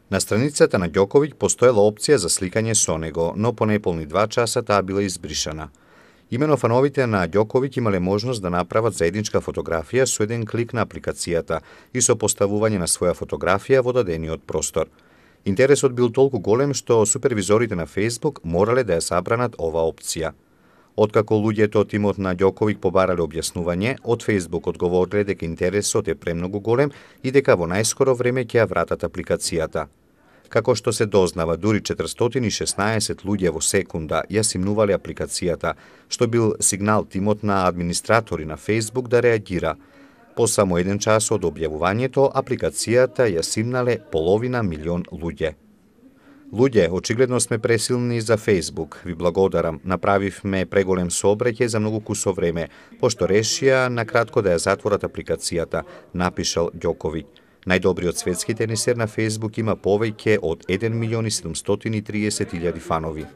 На страницата на Ѓоковиќ постоела опција за сликање со него, но по неполни 2 часа таа била избришана. Имено фановите на Ѓоковиќ имале можност да направат заедничка фотографија со еден клик на апликацијата и со поставување на своја фотографија во дадениот простор. Интересот бил толку голем што супервизорите на Facebook морале да ја забранат оваа опција. Откако луѓето од тимот на Ѓоковиќ побарале објаснување, од Facebook одговориле дека интересот е премногу голем и дека во најскоро време ќе ја вратат апликацијата. Како што се дознава, дури 416 луѓе во секунда ја симнувале апликацијата, што бил сигнал тимот на администратори на Facebook да реагира. По само 1 час од објавувањето, апликацијата ја симнале 500 милион луѓе. Луѓе, очигледно сме пресилни за Facebook. Ви благодарам. Направивме преголем сообраќај за многу кусо време, пошто решија на кратко да ја затворат апликацијата, напишал Ѓоковиќ. Најдобриот светски тенисер на Facebook има повеќе од 1.730.000 фанови.